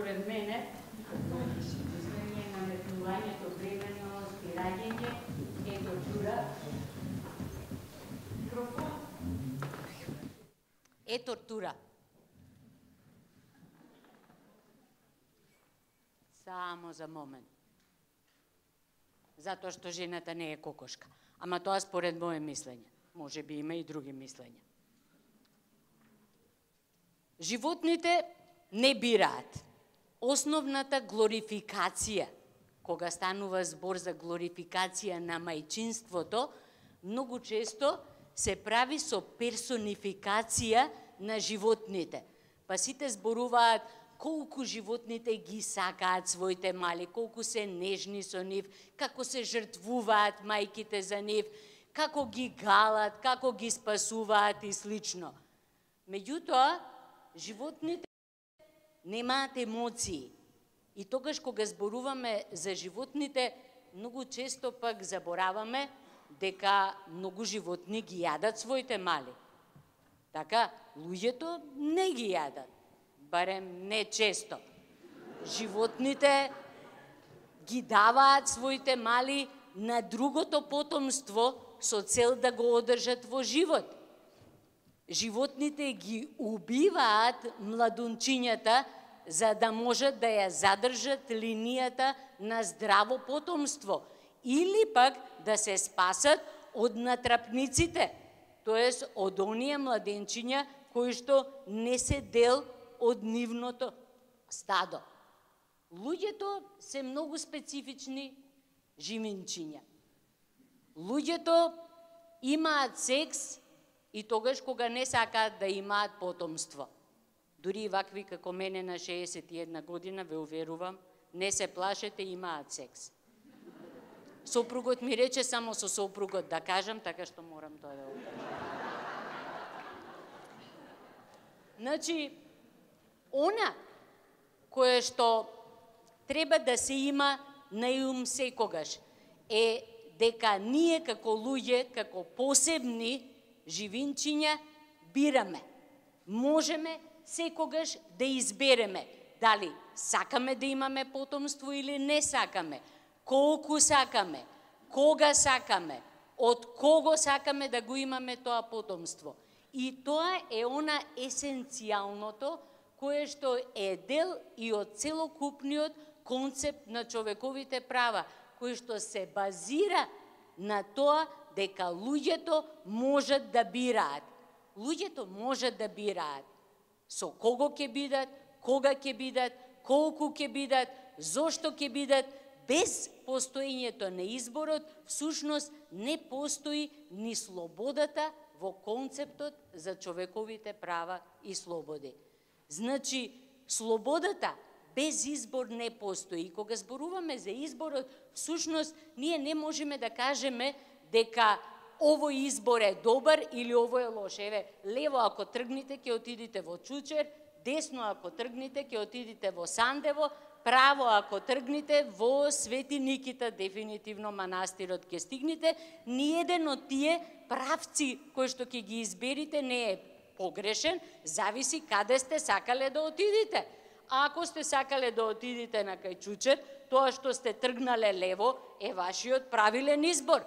според мене, изменение на наметнувањето, бременост и раѓање е тортура. Е тортура. Само за момент. Затоа што жената не е кокошка. Ама тоа според моje мислење. Може би има и други мислења. Животните не бираат. Основната глорификација, кога станува збор за глорификација на мајчинството, многу често се прави со персонификација на животните. Па сите зборуваат колку животните ги сакаат своите мали, колку се нежни со нив, како се жртвуваат мајките за нив, како ги галат, како ги спасуваат и слично. Меѓутоа, животните немаат емоции. И тогаш кога зборуваме за животните, многу често пак забораваме дека многу животни ги јадат своите мали. Така, луѓето не ги јадат, барем не често. Животните ги даваат своите мали на другото потомство со цел да го одржат во живот. Животните ги убиваат младунчињата за да можат да ја задржат линијата на здраво потомство или пак да се спасат од натрапниците, тоест од оние младенчиња кои што не се дел од нивното стадо. Луѓето се многу специфични живинчиња. Луѓето имаат секс и тогаш кога не сакаат да имаат потомство. Дури и вакви како мене на 61 година, ве уверувам, не се плашете, имаат секс. Сопругот ми рече само со сопругот да кажам, така што морам тоа да го кажам. Значи, она кое што треба да се има на ум секогаш е дека ние како луѓе, како посебни живинчиња бираме. Можеме секогаш да избереме дали сакаме да имаме потомство или не сакаме, колку сакаме, кога сакаме, од кого сакаме да го имаме тоа потомство. И тоа е она есенцијалното кое што е дел и од целокупниот концепт на човековите права, кој што се базира на тоа дека луѓето можат да бираат. Луѓето можат да бираат со кого ќе бидат, кога ќе бидат, колку ќе бидат, зошто ќе бидат, без постоењето на изборот, всушност не постои ни слободата во концептот за човековите права и слободи. Значи, слободата без избор не постои. И кога зборуваме за изборот, всушност, ние не можеме да кажеме дека овој избор е добар или овој е лош. Еве, лево ако тргнете, ќе отидете во Чучер, десно ако тргнете, ќе отидете во Сандево, право ако тргнете во Свети Никита, дефинитивно манастирот ќе стигнете. Ниеден од тие правци кои што ќе ги изберите не е погрешен, зависи каде сте сакале да отидете. А ако сте сакале да отидете на кај Чучер, тоа што сте тргнале лево е вашиот правилен избор.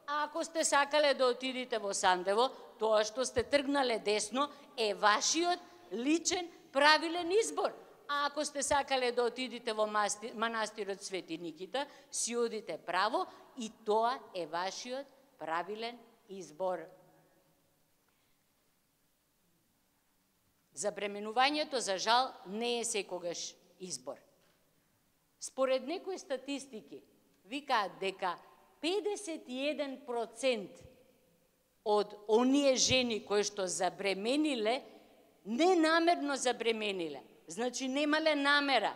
А ако сте сакале да отидете во Сандево, тоа што сте тргнале десно е вашиот личен правилен избор. А ако сте сакале да отидете во манастирот Свети Никита, си одите право и тоа е вашиот правилен избор. Забременувањето, за жал, не е секогаш избор. Според некои статистики, викаат дека 51% од оние жени кои што забремениле, ненамерно забремениле. Значи, немале намера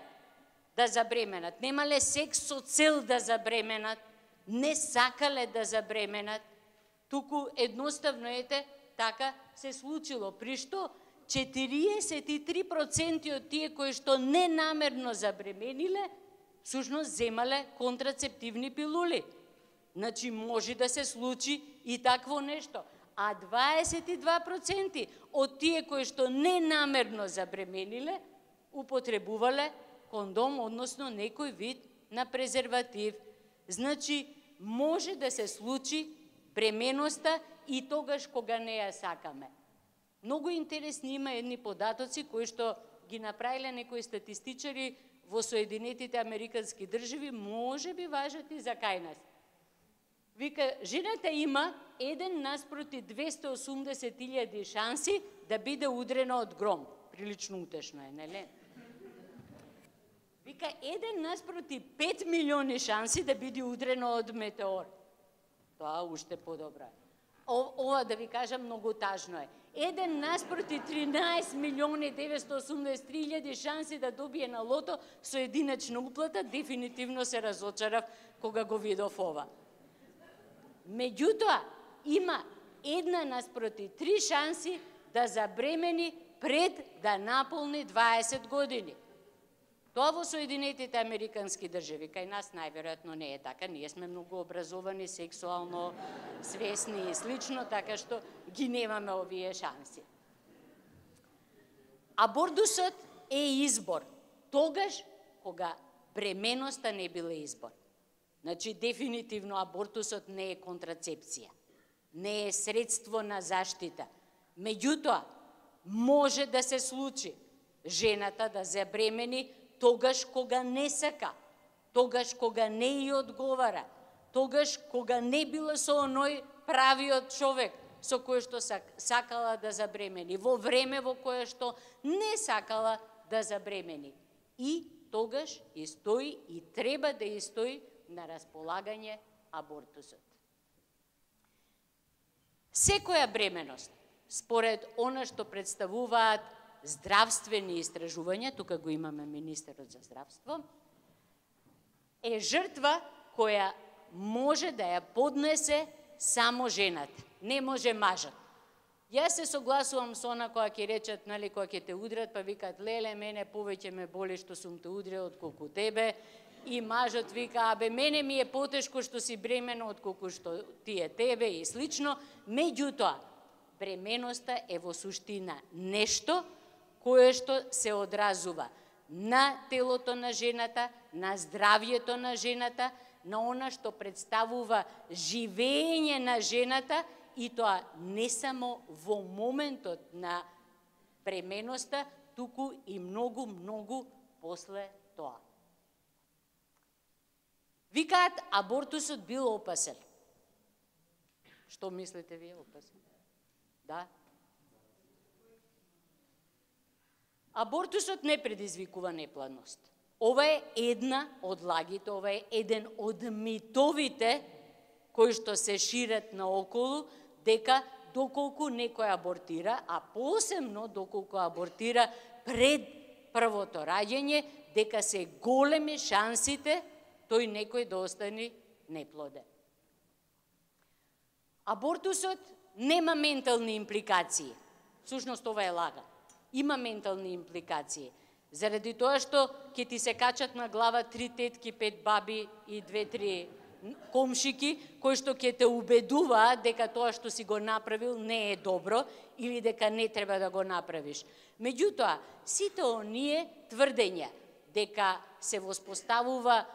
да забременат, немале секс со цел да забременат, не сакале да забременат, туку едноставно ете, така се случило. При што 43% од тие кои што ненамерно забремениле, всушност земале контрацептивни пилули. Значи, може да се случи и такво нешто. А 22% од тие кои што ненамерно забремениле, употребувале кондом, односно некој вид на презерватив. Значи, може да се случи бременоста и тогаш кога не ја сакаме. Многу интересни има едни податоци кои што ги направиле некои статистичари во Соединетите Американски држави, може би важат и за кај нас. Вика, жената има 1:280,000 шанси да биде удрена од гром. Прилично утешно е, нели? Вика, 1:5 милиони шанси да биде удрена од метеор. Тоа уште подобро е. Ова да ви кажам, многу тажно е. 1:13,983,000 шанси да добие на лото со единечна уплата, дефинитивно се разочарав кога го видов ова. Меѓутоа, има 1:3 шанси да забремени пред да наполни 20 години. Тоа во Соединетите Американски држави, кај нас најверојатно не е така, ние сме многу образовани, сексуално свесни и слично, така што ги немаме овие шанси. Абортусот е избор, тогаш кога бременоста не биле избор. Значи, дефинитивно абортусот не е контрацепција, не е средство на заштита. Меѓутоа, може да се случи жената да забремени тогаш кога не сака, тогаш кога не ја одговара, тогаш кога не била со оној правиот човек со кој што сакала да забремени, во време во кое што не сакала да забремени. И тогаш и стои и треба да и стои на располагање абортусот. Секоја бременост, според она што представуваат здравствени истражувања, тука го имаме министерот за здравство, е жртва која може да ја поднесе само жената, не може мажот. Јас се согласувам со она која ќе речат, нали, која ќе те удрат, па викаат, леле, мене повеќе ме боли што сум те удрил отколку тебе, и мажот вика, абе, мене ми е потешко што си бремена отколку што ти е тебе и слично. Меѓутоа, бременоста е во суштина нешто кое што се одразува на телото на жената, на здравјето на жената, на она што представува живење на жената, и тоа не само во моментот на бременоста, туку и многу, многу после тоа. Викаат, абортусот бил опасен. Што мислите вие, опасен? Да? Абортусот не предизвикува неплодност. Ова е една од лагите, ова е еден од митовите кои што се шират наоколу, дека доколку некој абортира, а посебно доколку абортира пред првото раѓање, дека се големи шансите тој некој да остане неплоден. Абортусот нема ментални импликации. Всушност ова е лага. Има ментални импликации. Заради тоа што ќе ти се качат на глава 3 тетки, 5 баби и 2-3 комшики, кои што ќе те убедуваат дека тоа што си го направил не е добро или дека не треба да го направиш. Меѓутоа, сите оние тврдења дека се воспоставува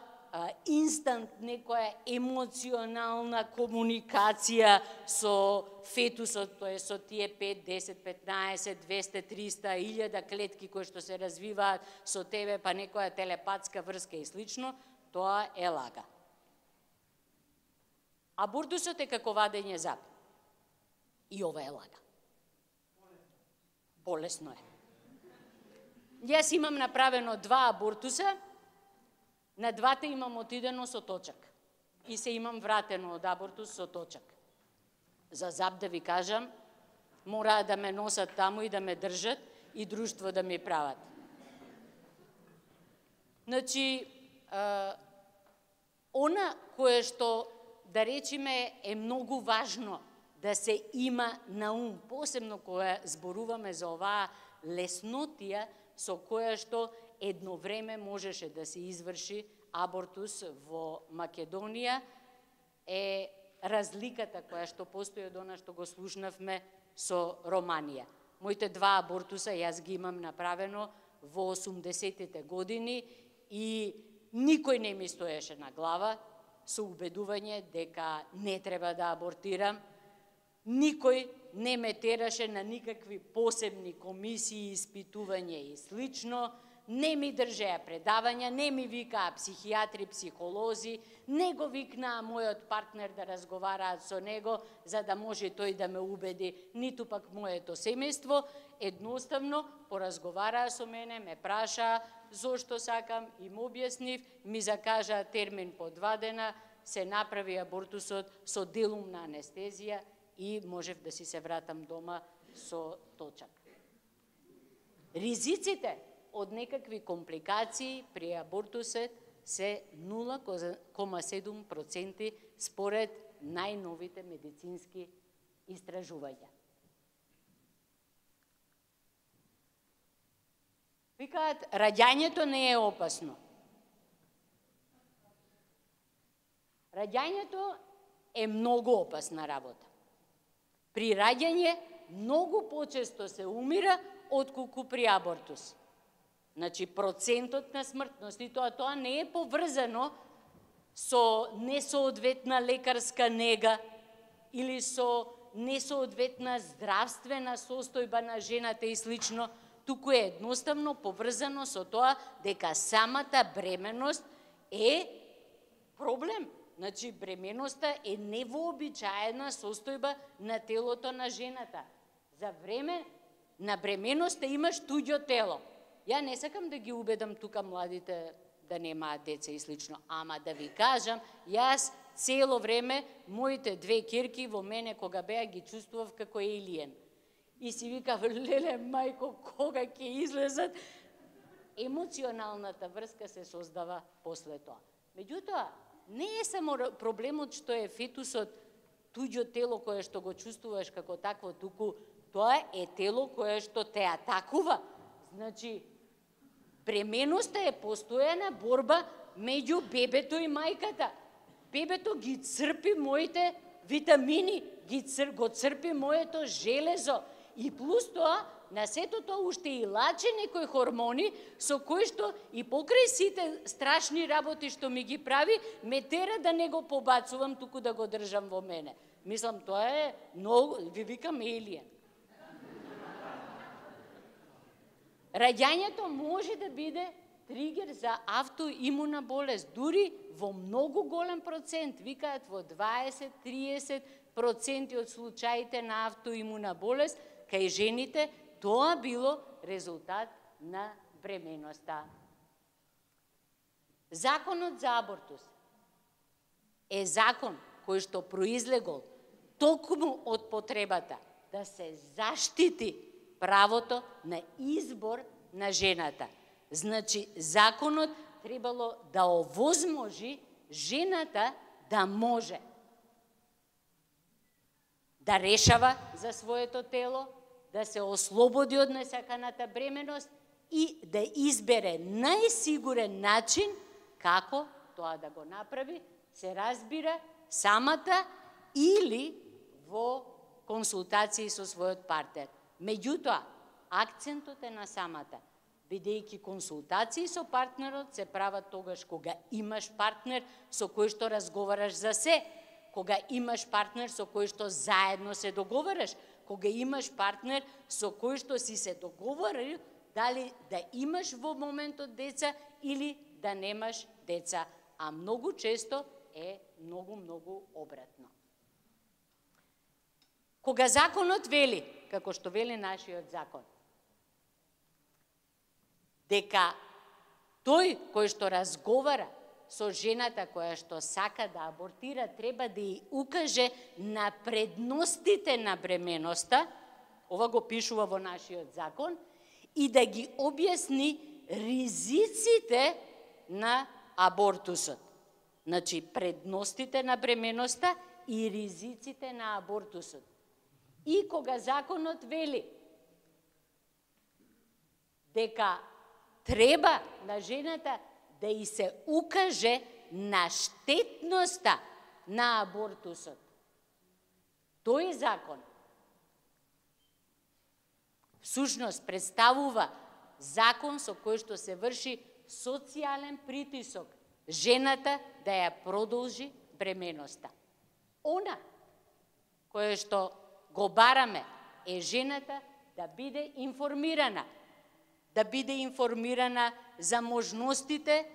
инстант некоја емоционална комуникација со фетусот, тоа е со тие 5, 10, 15, 200, 300, 1000 клетки кои што се развиваат со тебе, па некоја телепатска врска и слично, тоа е лага. Абортусот е како вадење зап. И ова е лага. Болесно е. Јас имам направено 2 абортуса, на 2 имам отидено со точак. И се имам вратено од абортус со точак. За зап да ви кажам, мора да ме носат таму и да ме држат и друштво да ми прават. Значи, она кое што, да речеме, е многу важно да се има на ум, посебно кога зборуваме за оваа леснотија со која што едно време можеше да се изврши абортус во Македонија, е разликата која што постои од она што го слушнавме со Романија. Моите 2 абортуса јас ги имам направено во 80-тите години и никој не ми стоеше на глава со убедување дека не треба да абортирам. Никој не ме тераше на никакви посебни комисии, испитување и слично. Не ми држеа предавања, не ми викаа психијатри, психолози, не го викнаа мојот партнер да разговараат со него, за да може тој да ме убеди, ниту пак моето семејство. Едноставно поразговараа со мене, ме прашаа зошто сакам, им објаснив, ми закажаа термин по 2 дена, се направи абортусот со делумна анестезија и можев да си се вратам дома со точак. Ризиците од некакви компликации при абортусот се 0,7% според најновите медицински истражувања. Викаат, раѓањето не е опасно. Раѓањето е многу опасна работа. При раѓање многу почесто се умира отколку при абортус. Значи, процентот на смртност, и тоа не е поврзано со несоодветна лекарска нега или со несоодветна здравствена состојба на жената и слично, туку е едноставно поврзано со тоа дека самата бременост е проблем. Значи, бременоста е невообичаена состојба на телото на жената. За време на бременоста имаш туѓо тело. Ја не сакам да ги убедам тука младите да немаат деца и слично, ама да ви кажам, јас цело време моите 2 ќерки во мене кога беа ги чувствував како елиен. И си викав, леле, мајко, кога ќе излезат? Емоционалната врска се создава после тоа. Меѓутоа, не е само проблемот што е фетусот туѓо тело кое што го чувствуваш како такво, туку тоа е тело кое што те атакува. Значи, бременоста е постојана борба меѓу бебето и мајката. Бебето ги црпи моите витамини, го црпи моето железо. И плюс тоа, на сето тоа уште и лаче некои хормони, со кои што и покрај сите страшни работи што ми ги прави, ме тера да не го побацувам, туку да го држам во мене. Мислам, тоа е многу, ви викам елиен. Раѓањето може да биде тригер за автоимуна болест, дури во многу голем процент, викаат во 20-30% од случаите на автоимуна болест, кај жените тоа било резултат на бременоста. Законот за абортус е закон кој што произлегол токму од потребата да се заштити правото на избор на жената. Значи, законот требало да овозможи жената да може да решава за своето тело, да се ослободи од несаканата бременост и да избере најсигурен начин како тоа да го направи, се разбира самата или во консултации со својот партнер. Меѓутоа, акцентот е на самата, бидејќи консултации со партнерот се прават тогаш кога имаш партнер со кој што разговараш за се, кога имаш партнер со кој што заедно се договараш, кога имаш партнер со кој што си се договорил дали да имаш во моментот деца или да немаш деца, а многу често е многу обратно. Кога законот вели, како што вели нашиот закон, дека тој кој што разговара со жената која што сака да абортира треба да ја укаже на предностите на бременоста, ова го пишува во нашиот закон, и да ги објасни ризиците на абортусот. Значи, предностите на бременоста и ризиците на абортусот. И кога законот вели дека треба на жената да и се укаже на штетноста на абортусот, тој закон всушност представува закон со кој што се врши социјален притисок жената да ја продолжи бременоста. Она кое што го бараме е жената да биде информирана за можностите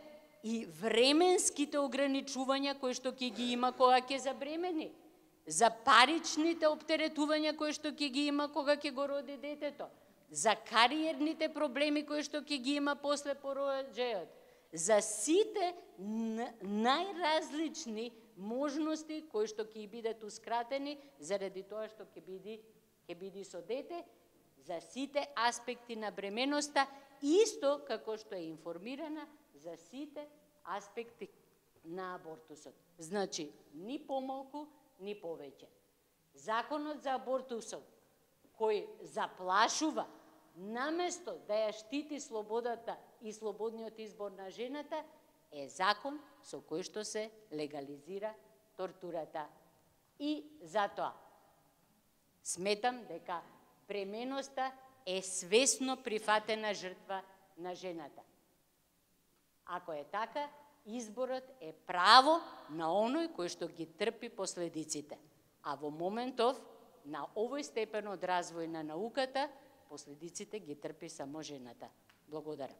и временските ограничувања кои што ќе ги има кога ќе забремени, за паричните оптеретувања кои што ќе ги има кога ќе го роди детето, за кариерните проблеми кои што ќе ги има после пороđајот, за сите најразлични можности кои што ќе бидат ускратени заради тоа што ќе биде со дете, за сите аспекти на бременоста, исто како што е информирана за сите аспекти на абортусот. Значи, ни помалку, ни повеќе. Законот за абортусот, кој заплашува, наместо да ја штити слободата и слободниот избор на жената, е закон со кој што се легализира тортурата. И затоа сметам дека бременоста е свесно прифатена жртва на жената. Ако е така, изборот е право на оној кој што ги трпи последиците. А во моментов, на овој степен од развој на науката, последиците ги трпи само жената. Благодарам.